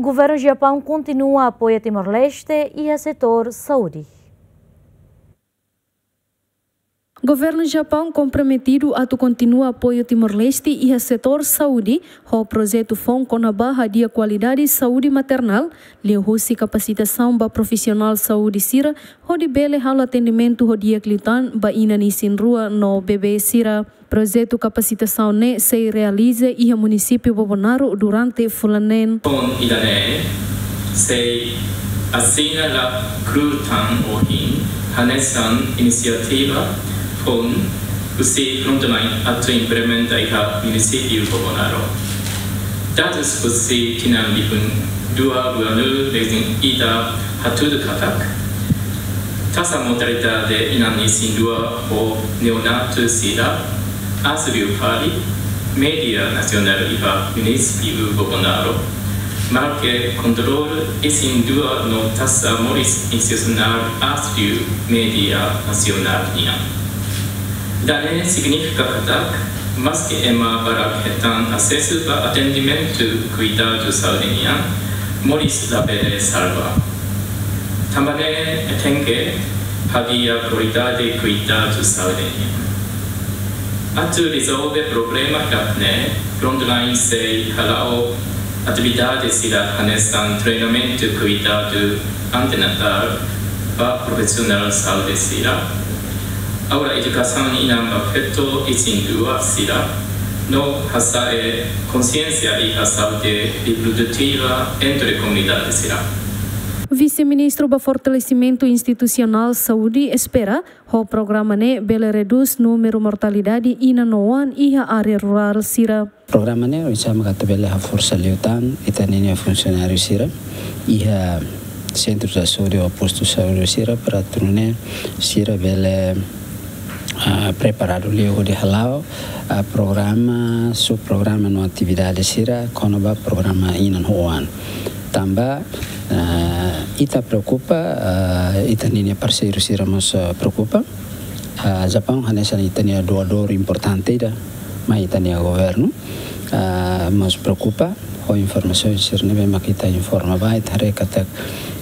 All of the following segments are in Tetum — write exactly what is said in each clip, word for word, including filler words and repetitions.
Governu Japaun kontinua apoia Timor-Leste iha setór saúde. Governu Japaun komprometidu atu kontinua apoiu Timor-Leste iha setór saúde, ho projetu foun kona-ba hadi'a kualidade saúde maternál, liuhusi kapasitasaun ba profisionál saúde sira, hodi bele halo atendimentu ho di'ak liután ba inan isin-rua no bebé sira. Projetu kapasitasaun ne'e sei realiza iha munisípiu Bobonaro durante fulan neen. Foun ida-ne'e sei asina la kleur tan ohin, hanesan inisiativa foun husi Frontline atu implementa iha munisípiu Bobonaro. Dadus husi tinan rihun rua ruanulu-resin-ida hatudu katak, taxa mortalidade inan isin-rua ho neonatu sira aas liu fali média nasionál iha munisípiu Bobonaro, maske kontrolu isin-rua no taxa moris institusionál aas liu média nasionál nian. Ida-ne'e signifika katak, maske ema barak hetan asesu ba atendimentu kuidadu saúde nian, moris labele salva. Tanba ne'e tenke hadi'a kualidade kuidadu saúde nian. Atu rezolve problema hirak-ne'e, Frontline sei hala'o atividade sira hanesan treinamentu kuidadu antenatál ba profisionál saúde sira, aula edukasaun inan ba feto isin-rua sira, no hasa'e konxiénsia iha saúde reprodutiva entre komunidade sira. Vise-Ministru ba Fortalesimentu Institusionál Saúde espera, ho programa ne'e bele redús númeru mortalidade inan no oan iha área rurál sira. Programa ne'e oinsá mak atu bele haforsa liután ita-nia funsionáriu sira iha sentru saúde ou postu saúde sira, para atu nune'e sira bele, ah, preparadu liu hodi hala'o, ah, programa, subprograma no atividade sira kona-ba programa inan ho oan. Tanba, ah, ita preokupa, ah, ita-nia parseiru sira mós, ah, preokupa. Ah, Japaun hanesan ita-nia doadór importante ida mai ita-nia governu. Ah, mós preokupa ho informasaun sira ne'ebé mak ita informa ba, ita haree katak,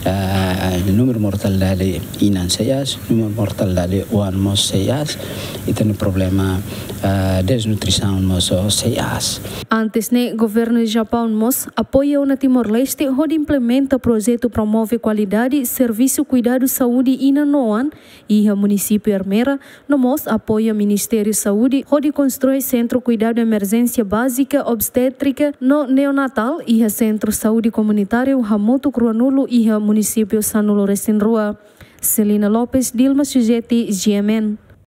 ah, númeru mortalidade inan sei aas, númeru mortalidade oan mós sei aas, ita-nia problema, ah, desnutrisaun mós sei aas. Antes ne'e, Governu Japaun mós apoia ona Timor-Leste hodi implementa projetu promove kualidade servisu kuidadu saúde inan no oan iha munisípiu Ermera, no mós apoia Ministériu Saúde hodi konstrui Sentru Kuidadu Emerjénsia Bázika Obstétrika no Neonatál iha Sentru Saúde Komunitáriu Hamutuk Ruanulu iha munisípiu sanulu-resin-rua. Celina Lopes, Dilma Sujeti, G M N.